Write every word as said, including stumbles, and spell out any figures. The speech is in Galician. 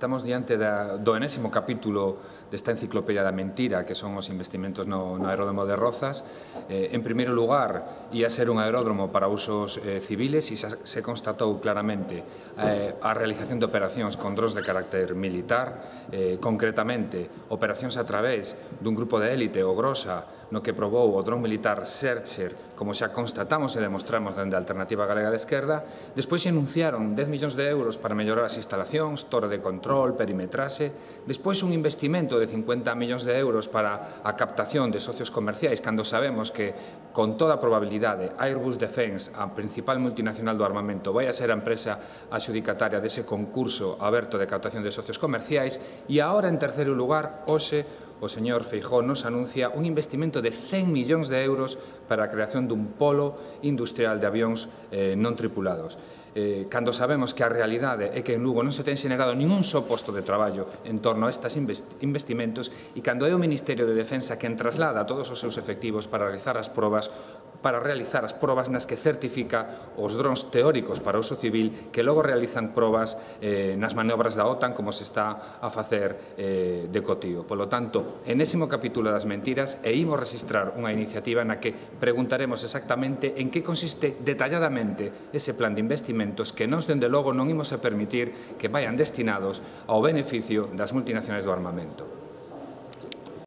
Estamos diante da, do enésimo capítulo desta enciclopedia da mentira, que son os investimentos no, no aeródromo de Rozas. Eh, en primeiro lugar, ia ser un aeródromo para usos eh, civiles e se, se constatou claramente eh, a realización de operacións con drons de carácter militar, eh, concretamente operacións a través dun grupo de élite, o Grosa, no que probou o dron militar Searcher, como xa constatamos e demostramos dende a Alternativa Galega de Esquerda. Despois se anunciaron dez millóns de euros para mellorar as instalacións, torre de control, perimetraxe. Despois un investimento de cincuenta millóns de euros para a captación de socios comerciais, cando sabemos que, con toda probabilidade, Airbus Defence, a principal multinacional do armamento, vai a ser a empresa adxudicataria dese concurso aberto de captación de socios comerciais. E agora, en terceiro lugar, hoxe, o señor Feijóo nos anuncia un investimento de cen millóns de euros para a creación dun polo industrial de avións eh, non tripulados. Eh, cando sabemos que a realidade é que en Lugo non se ten xenerado ningún só posto de traballo en torno a estes investimentos, e cando é o Ministerio de Defensa quen traslada todos os seus efectivos para realizar as probas para realizar as probas nas que certifica os drons teóricos para uso civil, que logo realizan probas eh, nas maniobras da OTAN, como se está a facer eh, de cotío. Polo tanto, enésimo capítulo das mentiras, e imos registrar unha iniciativa na que preguntaremos exactamente en que consiste detalladamente ese plan de investimentos que nós, dende logo, non imos a permitir que vayan destinados ao beneficio das multinacionais do armamento.